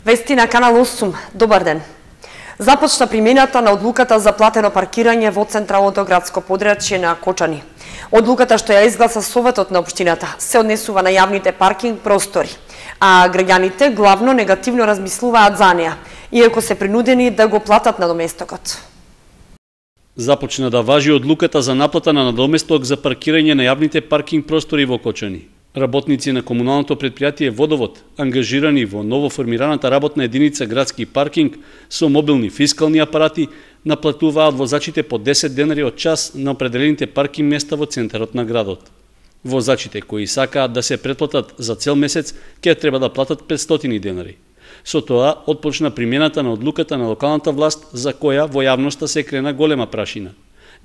Вести на Канал 8. Добар ден. Започна примената на одлуката за платено паркирање во централното градско подрачје на Кочани. Одлуката што ја изгласа Советот на општината се однесува на јавните паркинг простори, а граѓаните главно негативно размислуваат за неа, иако се принудени да го платат надоместокот. Започна да важи одлуката за наплата на надоместок за паркирање на јавните паркинг простори во Кочани. Работници на комуналното предпријатие Водовод, ангажирани во новоформираната работна единица градски паркинг со мобилни фискални апарати, наплатуваат возачите по 10 денари од час на определените паркинг места во центарот на градот. Возачите кои сакаат да се претплатат за цел месец, ќе треба да платат 500 денари. Со тоа отпочна примената на одлуката на локалната власт, за која во јавноста се крена голема прашина.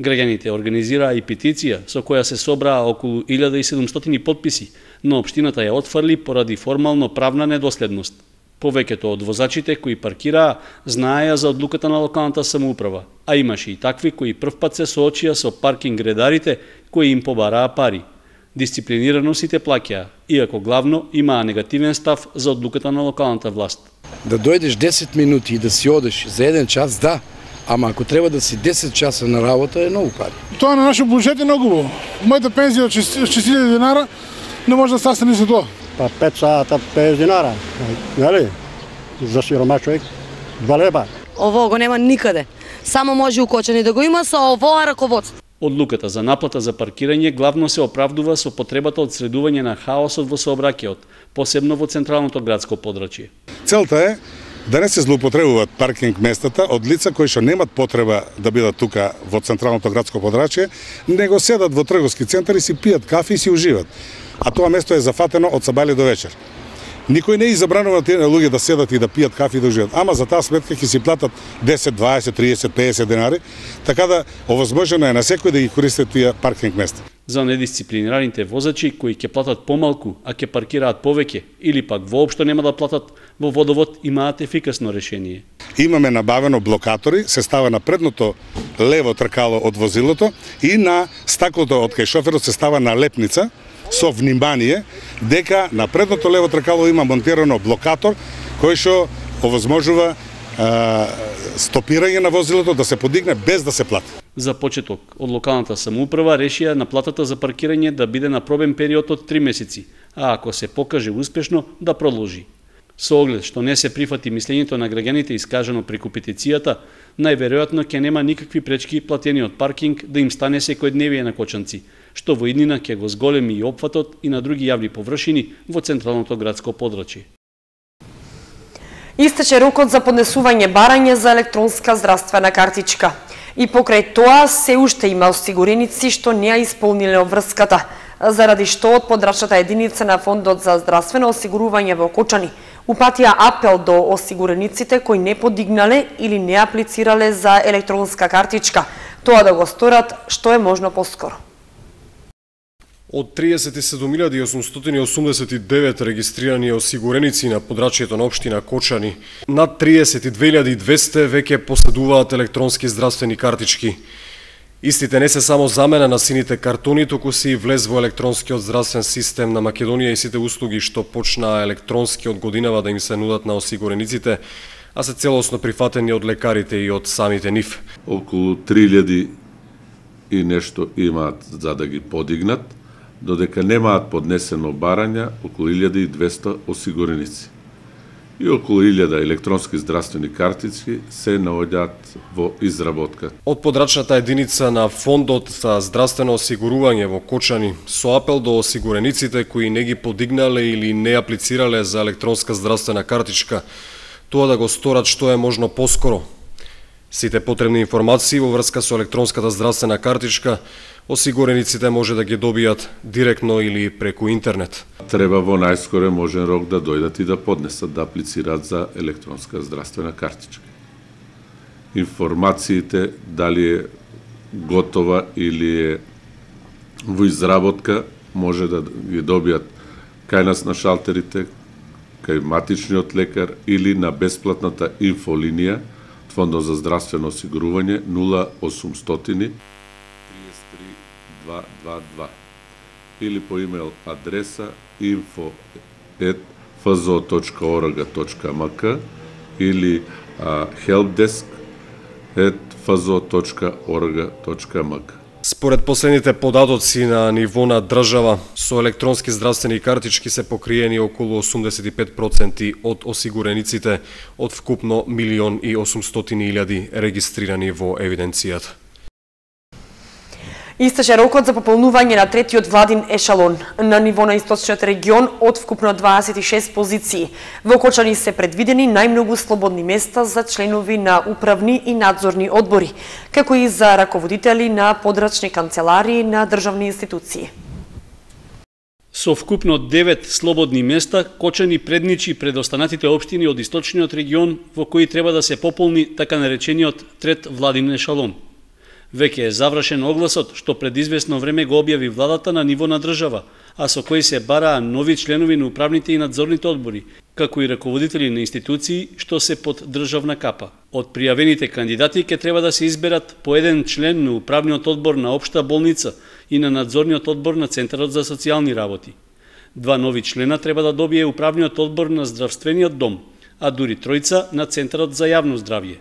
Граѓаните организираа и петиција со која се собраа околу 1700 подписи, но општината ја отфрли поради формално правна недоследност. Повеќето од возачите кои паркираа знаеа за одлуката на локалната самоуправа, а имаше и такви кои првпат се соочија со паркинг редарите кои им побараа пари. Дисциплинирано сите плаќаа, иако главно имаа негативен став за одлуката на локалната власт. Да дојдеш 10 минути и да си одеш за 1 час, да. Ама ако треба да си 10 часа на работа е многу пари. Тоа на нашиот буџет е многу убаво. Мојата пензија од 6000 динара не може да састане за тоа. Па 5 сата 50 динара, нели? За сиромаш човек 2 лева. Ово го нема никаде. Само може у Кочани да го има со овоа раководство. Одлуката за наплата за паркирање главно се оправдува со потребата од средување на хаосот во сообраќајот, посебно во централното градско подрачје. Целта е да не се злоупотребуваат паркинг местата од лица кои што немат потреба да бидат тука во централното градско подрачје, него седат во трговски центари, си пијат кафи и си уживат. А тоа место е зафатено од сабајле до вечер. Никој не забранува тие луѓе да седат и да пијат кафи и да уживат, ама за таа сметка ќе си платат 10, 20, 30, 50 денари, така да овозможено е на секој да ги користи тие паркинг места. За недисциплинираните возачи кои ќе платат помалку, а ќе паркираат повеќе или пак воопшто нема да платат, во Водовод имаат ефикасно решение. Имаме набавено блокатори, се става на предното лево тркало од возилото и на стаклото од кај шоферот се става налепница со внимание дека на предното лево тркало има монтирано блокатор кој што овозможува стопирање на возилото да се подигне без да се плати. За почеток, од локалната самоуправа решија наплатата за паркирање да биде на пробен период од 3 месеци, а ако се покаже успешно, да продолжи. Со оглед што не се прифати мислењето на граѓаните искажано преку петицијата, најверојатно ќе нема никакви пречки платениот паркинг да им стане секојдневие на кочанци, што во иднина ќе го зголеми и опфатот и на други јавни површини во централното градско подрачје. Истече рокот за поднесување барање за електронска здравствена картичка. И покрај тоа се уште има осигуреници што не ја исполниле обврската, заради што од подрачната единица на Фондот за здравствено осигурување во Кочани упатија апел до осигурениците кои не подигнале или не аплицирале за електронска картичка, тоа да го сторат што е можно поскоро. Од 37.889 регистрирани осигуреници на подрачјето на општина Кочани, над 32.200 веќе поседуваат електронски здравствени картички. Истите не се само замена на сините картони, туку се и влез во електронскиот здравствен систем на Македонија и сите услуги што почнаа електронски од годинава да им се нудат на осигурениците, а се целосно прифатени од лекарите и од самите нив. Околу 3000 и нешто имаат за да ги подигнат, додека немаат поднесено барања околу 1200 осигуреници. И околу 1000 електронски здравствени картички се наоѓаат во изработка. Од подрачната единица на Фондот за здравствено осигурување во Кочани со апел до осигурениците кои не ги подигнале или не аплицирале за електронска здравствена картичка, тоа да го сторат што е можно поскоро. Сите потребни информации во врска со електронската здравствена картичка осигурениците може да ги добијат директно или преку интернет. Треба во најскоре можен рок да дојдат и да поднесат, да аплицираат за електронска здравствена картичка. Информациите дали е готова или е во изработка може да ги добијат кај нас на шалтерите, кај матичниот лекар или на бесплатната инфолинија Фондот за здравствено осигурување 0800 33 222 или по имейл адреса info@ fzo.org.mk или helpdesk@fzo.org.mk. Според последните податоци на ниво на држава, со електронски здравствени картички се покриени околу 85% од осигурениците од вкупно 1.800.000 регистрирани во евиденцијата. Истече рокот за пополнување на третиот владин ешалон на ниво на источниот регион од вкупно 26 позиции. Во Кочани се предвидени најмногу слободни места за членови на управни и надзорни одбори, како и за раководители на подрачни канцеларии на државни институции. Со вкупно 9 слободни места, Кочани предничи пред останатите општини од источниот регион во кои треба да се пополни така наречениот трет владин ешалон. Веќе е завршен огласот што пред известно време го објави владата на ниво на држава, а со кој се бараа нови членови на управните и надзорните одбори, како и раководители на институции што се под државна капа. Од пријавените кандидати ќе треба да се изберат по еден член на управниот одбор на општа болница и на надзорниот одбор на Центарот за социјални работи. 2 нови члена треба да добие управниот одбор на здравствениот дом, а дури 3 на Центарот за јавно здравје.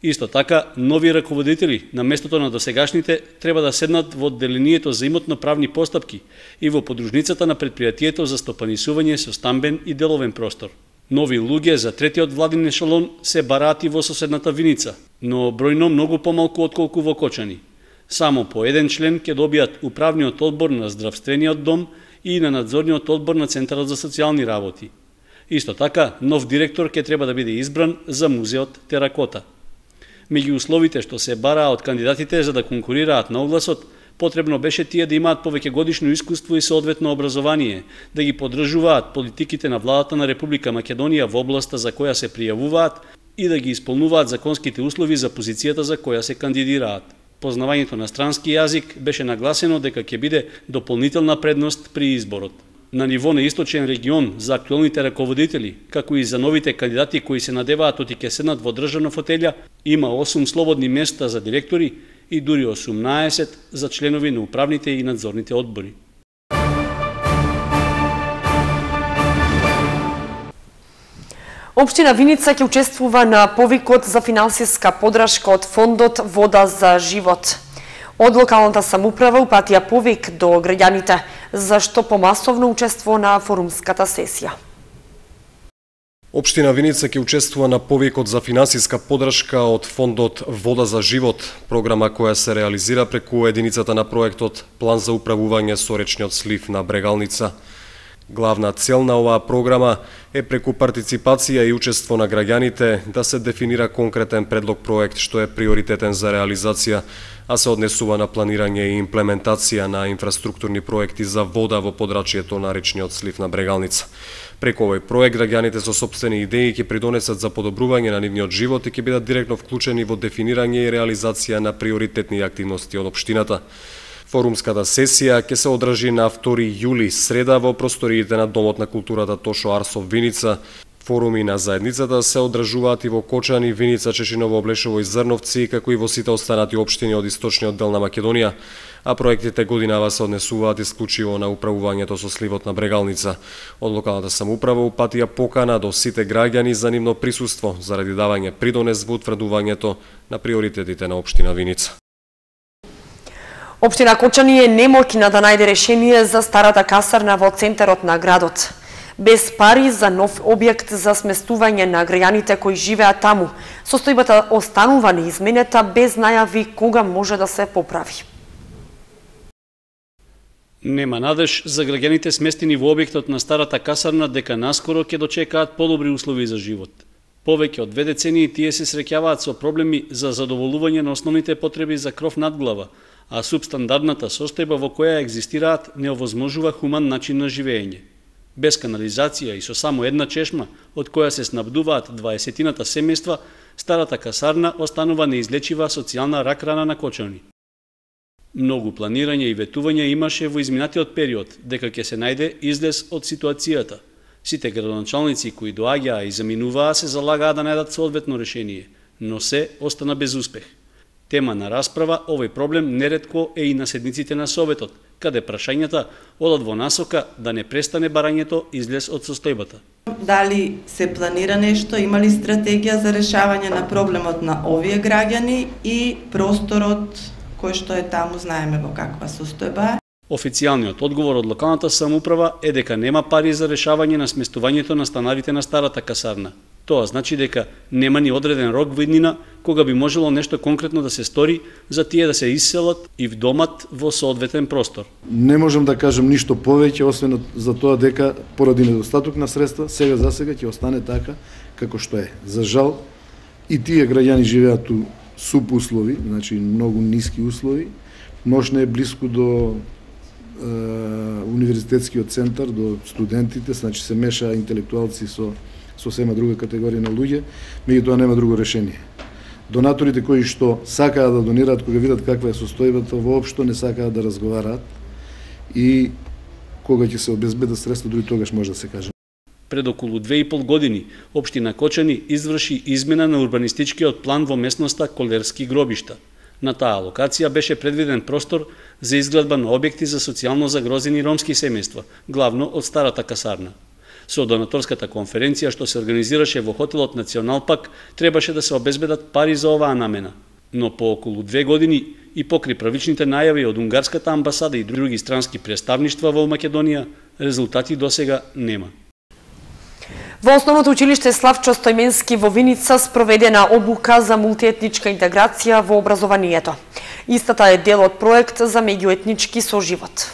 Исто така, нови раководители на местото на досегашните треба да седнат во одделението за имотно-правни постапки и во подружницата на предпријатието за стопанисување со стамбен и деловен простор. Нови луѓе за третиот владин ешалон се бараат и во соседната Виница, но бројно многу помалку отколку во Кочани. Само по еден член ќе добијат управниот одбор на здравствениот дом и на надзорниот одбор на Центарот за социјални работи. Исто така, нов директор ќе треба да биде избран за музеот Теракота. Меѓу условите што се бараа од кандидатите за да конкурираат на огласот, потребно беше тие да имаат повеќегодишно искуство и соодветно образование, да ги поддржуваат политиките на владата на Република Македонија во областа за која се пријавуваат и да ги исполнуваат законските услови за позицијата за која се кандидираат. Познавањето на странски јазик беше нагласено дека ќе биде дополнителна предност при изборот. На ниво на источен регион за актуелните раководители, како и за новите кандидати кои се надеваат оти ќе седнат во државна фотелја, има 8 слободни места за директори и дури 18 за членови на управните и надзорните одбори. Општина Виница ќе учествува на повикот за финансиска поддршка од фондот Вода за живот. Од локалната самоуправа упатија повик до граѓаните за што помасовно учество на форумската сесија. Општина Виница ќе учествува на повикот за финансиска поддршка од фондот Вода за живот, програма која се реализира преку единицата на проектот План за управување со речниот слив на Брегалница. Главна цел на оваа програма е преку партиципација и учество на граѓаните да се дефинира конкретен предлог проект што е приоритетен за реализација, а се однесува на планирање и имплементација на инфраструктурни проекти за вода во подрачјето на речниот слив на Брегалница. Преку овој проект граѓаните со сопствени идеи ќе придонесат за подобрување на нивниот живот и ќе бидат директно вклучени во дефинирање и реализација на приоритетни активности од општината. Форумската сесија ќе се одржи на 2 јули, среда, во просториите на Домот на културата Тошо Арсов Виница. Форуми на заедницата се одржуваат и во Кочани, Виница, Чешиново, Облешово и Зрновци, како и во сите останати општини од источниот дел на Македонија, а проектите годинава се однесуваат исклучиво на управувањето со сливот на Брегалница. Од локалната самоуправа упатија покана до сите граѓани за нивно присуство заради давање придонес во утврдувањето на приоритетите на општина Виница. Општина Кочани е немоќна да најде решение за старата касарна во центарот на градот. Без пари за нов објект за сместување на граѓаните кои живеат таму, состојбата останува неизменета без најави кога може да се поправи. Нема надеж за граѓаните сместени во објектот на старата касарна дека наскоро ќе дочекаат подобри услови за живот. Повеќе од 2 децении тие се среќаваат со проблеми за задоволување на основните потреби за кров над глава, а субстандардната состојба во која екзистираат не овозможува хуман начин на живење. Без канализација и со само една чешма, од која се снабдуваат 20-тината семејства, старата касарна останува неизлечива социјална рак-рана на Кочани. Многу планирање и ветување имаше во изминатиот период дека ќе се најде излез од ситуацијата. Сите градоначалници кои доаѓаа и заминуваа се залагаа да најдат соодветно решение, но се остана без успех. Тема на расправа овој проблем неретко е и на седниците на Советот, каде прашањата одат во насока да не престане барањето излез од состојбата. Дали се планира нешто, има ли стратегија за решавање на проблемот на овие граѓани и просторот кој што е таму, знаеме во каква состојба? Официјалниот одговор од локалната самоуправа е дека нема пари за решавање на сместувањето на станарите на старата касарна. Тоа значи дека нема ни одреден рок во иднина кога би можело нешто конкретно да се стори за тие да се исселат и вдомат во соодветен простор. Не можам да кажам ништо повеќе освен за тоа дека поради недостаток на средства сега за сега ќе остане така како што е. За жал и тие граѓани живеат у суп услови, значи многу ниски услови. Мошне е блиску до универзитетскиот центар, до студентите, значи се меша интелектуалци со сосема друга категорија на луѓе, меѓутоа нема друго решение. Донаторите кои што сакаат да донираат, кога видат каква е состојбата, воопшто не сакаат да разговараат и кога ќе се обезбедат средства, дури тогаш може да се каже. Пред околу 2,5 години, општина Кочани изврши измена на урбанистичкиот план во местноста Колерски гробишта. На таа локација беше предвиден простор за изградба на објекти за социјално загрозени ромски семејства, главно од старата касарна. Со донаторската конференција што се организираше во хотелот Национал Пак, требаше да се обезбедат пари за оваа намена. Но по околу 2 години и покри правичните најави од унгарската амбасада и други странски представништва во Македонија, резултати досега нема. Во Основното училиште Славчо Стојменски во Виница спроведена обука за мултиетничка интеграција во образованието. Истата е дел од проект за меѓуетнички соживот.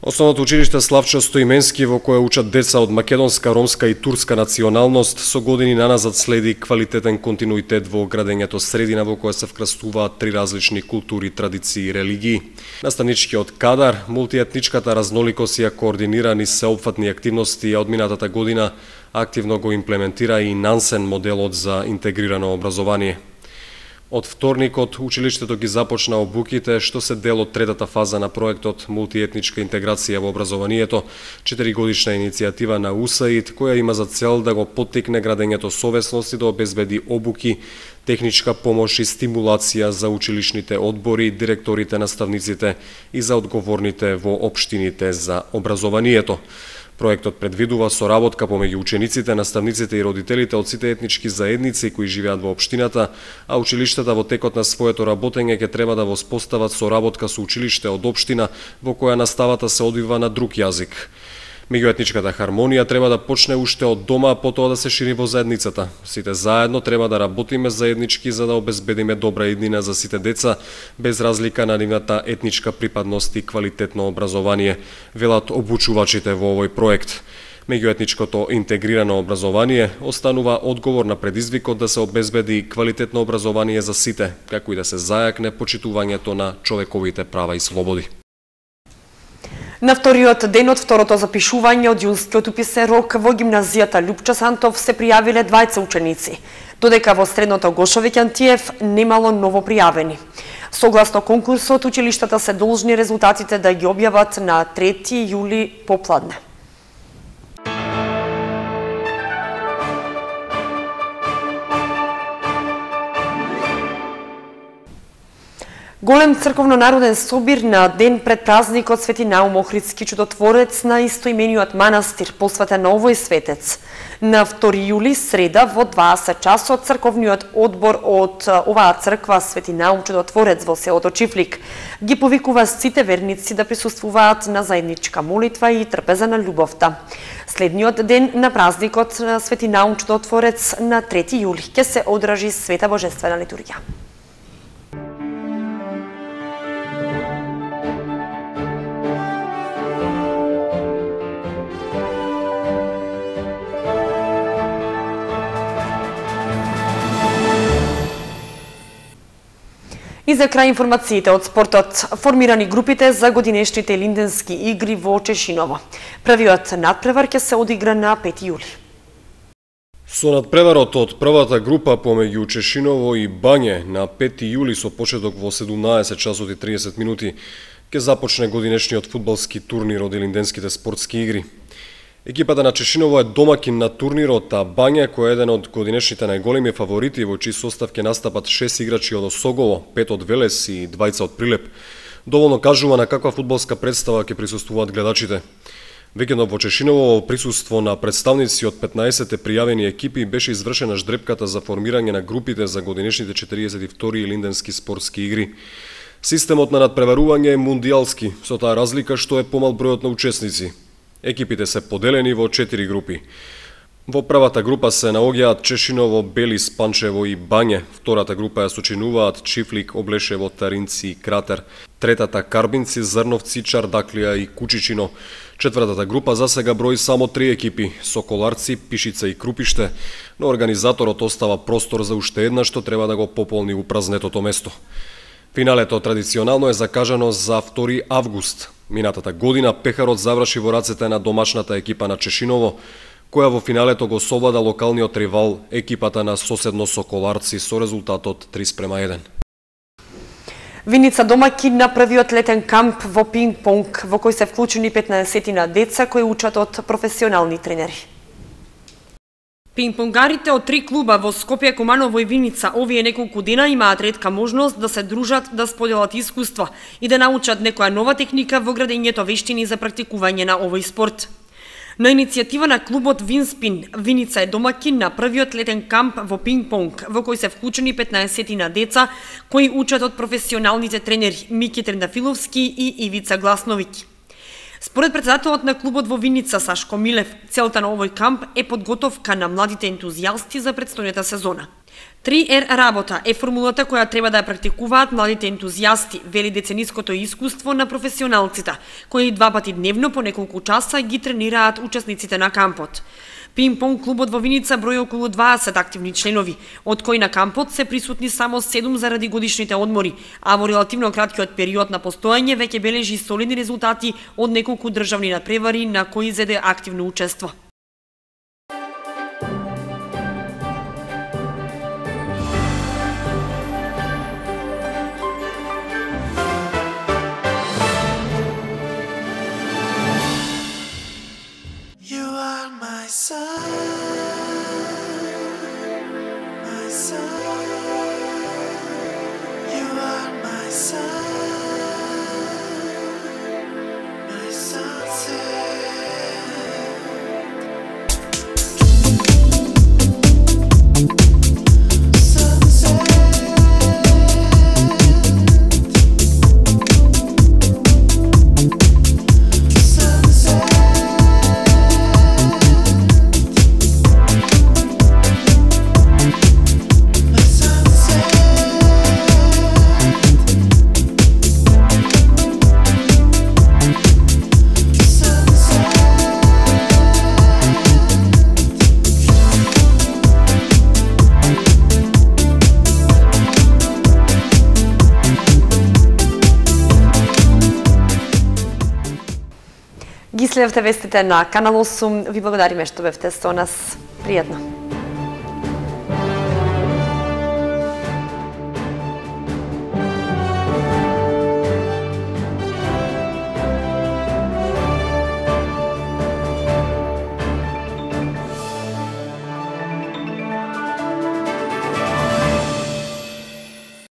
Основното училиште Славчо Стојменски, во кое учат деца од македонска, ромска и турска националност, со години наназад следи квалитетен континуитет во градењето средина во која се вкрастуваат 3 различни култури, традиции и религии. Наставничкиот кадар, мултиетничката разноликост и координирани сеопфатни активности од минатата година активно го имплементира и Нансен моделот за интегрирано образование. Од вторникот, училиштето ги започна обуките, што се дел од третата фаза на проектот Мултиетничка интеграција во образованието, 4-годишна иницијатива на УСАИД, која има за цел да го поттикне градењето совесност и да обезбеди обуки, техничка помош и стимулација за училишните одбори, директорите, наставниците и за одговорните во општините за образованието. Проектот предвидува соработка помеѓу учениците, наставниците и родителите од сите етнички заедници кои живеат во општината, а училиштата во текот на своето работење ќе треба да воспостават соработка со училиште од општина во која наставата се одвива на друг јазик. Меѓуетничката хармонија треба да почне уште од дома, а потоа да се шири во заедницата. Сите заедно треба да работиме заеднички за да обезбедиме добра иднина за сите деца, без разлика на нивната етничка припадност и квалитетно образование, велат обучувачите во овој проект. Меѓуетничкото интегрирано образование останува одговор на предизвикот да се обезбеди квалитетно образование за сите, како и да се зајакне почитувањето на човековите права и слободи. На вториот ден од второто запишување од јунскиот уписен рок во гимназијата Лјупча Сантов се пријавиле 20 ученици, додека во средното Гошовиќ Антиев немало ново пријавени. Согласно конкурсот, училиштата се должни резултатите да ги објават на 3 јули попладне. Голем црковно-народен собир на ден пред празникот Свети Наум Охридски чудотворец на истоимениот манастир, посветен на овој светец. На 2 јули, среда, во 20 часот, црковниот одбор од оваа црква Свети Наум чудотворец во селото Чифлик ги повикува сите верници да присуствуваат на заедничка молитва и трпеза на љубовта. Следниот ден на празникот Свети Наум чудотворец на 3 јули ќе се одржи света божествена литургија. И за крај информациите од спортот, формирани групите за годинешните Линденски игри во Чешиново. Првиот надпревар ќе се одигра на 5 јули. Со надпреварот од првата група помеѓу Чешиново и Бање на 5 јули со почеток во 17 часот и 30 минути ќе започне годинешниот фудбалски турнир од Линденските спортски игри. Екипата на Чешиново е домакин на турнирот, а Бања, кој е еден од годинешните најголеми фаворити во чиј состав ќе настапат 6 играчи од Осогово, 5 од Велес и 2 од Прилеп, Доволно кажува на каква фудбалска представа ќе присуствуваат гледачите. Викендов во Чешиново во присуство на представници од 15 пријавени екипи беше извршена ждрепката за формирање на групите за годинешните 42-и Линденски спортски игри. Системот на надпреварување е мундијалски, со таа разлика што е помал бројот на учесници. Екипите се поделени во 4 групи. Во првата група се наоѓаат Чешиново, Белис, Панчево и Бање. Втората група ја сочинуваат Чифлик, Облешево, Таринци и Кратер. Третата Карбинци, Зрновци, Чардаклија и Кучичино. Четвртата група засега брои само 3 екипи: Соколарци, Пишица и Крупиште, но организаторот остава простор за уште една што треба да го пополни упразнетото место. Финалето традиционално е закажано за 2 август. Минатата година пехарот заврши во рацете на домашната екипа на Чешиново, која во финалето го совлада локалниот ривал, екипата на соседно Соколарци, со резултатот 3:1. Виница домаќин на првиот летен камп во пинг-понг, во кој се вклучени 15 деца кои учат од професионални тренери. Пинг-понгарите од 3 клуба во Скопје, Куманово и Виница овие неколку дена имаат ретка можност да се дружат, да споделат искуства и да научат некоја нова техника во градењето вештини за практикување на овој спорт. На иницијатива на клубот Винспин, Виница е домаќин на првиот летен камп во пинг-понг, во кој се вклучени 15 деца кои учат од професионалните тренери Мики Трендафиловски и Ивица Гласновиќ. Според председателот на клубот во Виница Сашко Милев, целта на овој камп е подготовка на младите ентузијасти за претстојната сезона. 3R работа е формулата која треба да ја практикуваат младите ентузијасти, вели децениското искуство на професионалците, кои 2 пати дневно по неколку часа ги тренираат учесниците на кампот. Пинг-понг клубот во Виница брои околу 20 активни членови, од кои на кампот се присутни само 7 заради годишните одмори, а во релативно краткиот период на постојање веќе бележи солидни резултати од неколку државни надпревари на кои зеде активно учество. Ги следевте вестите на Канал 8. Ви благодариме што бевте со нас. Пријатно.